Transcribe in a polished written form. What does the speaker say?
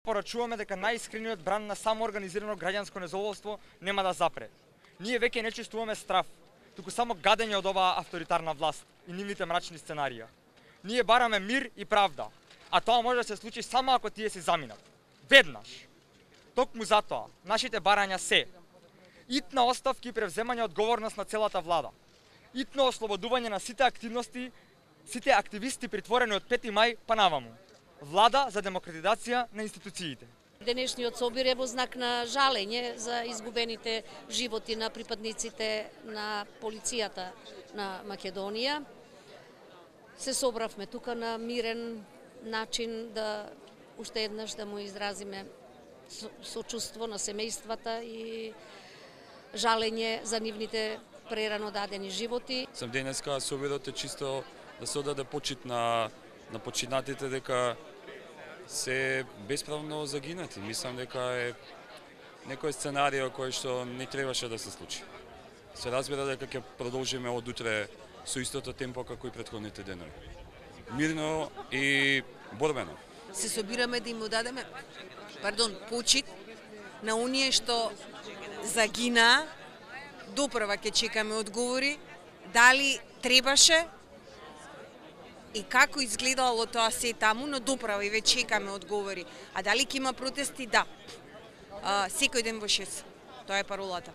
Порачуваме дека најискрениот бран на самоорганизирано граѓанско незадоволство нема да запре. Ние веќе не чувствуваме страв, туку само гадење од оваа авторитарна власт и нивните мрачни сценарија. Ние бараме мир и правда, а тоа може да се случи само ако тие се заминат. Веднаш. Токму затоа, нашите барања се итна оставки и превземање одговорност на целата влада, итно ослободување на сите активисти притворени од 5 мај па наваму, влада за демократизација на институциите. Денешниот собир е во знак на жалење за изгубените животи на припадниците на полицијата на Македонија. Се собравме тука на мирен начин да уште еднаш да му изразиме сочувство на семејствата и жалење за нивните прерано дадени животи. Сам денеска собирот е чисто да се одаде почит на починатите дека се бесправно загинати. Мислам дека е некој сценарио кој што не требаше да се случи. Се разбира дека ќе продолжиме од утре со истото темпо како и претходните денови. Мирно и борбено. Се собираме да им дадеме почит на оние што загина. Допрва ќе чекаме одговори дали требаше и како изгледало тоа се таму, но доправа и веќе чекаме одговори. А дали ќе има протести? Да. Секој ден во 6. Тоа е паролата.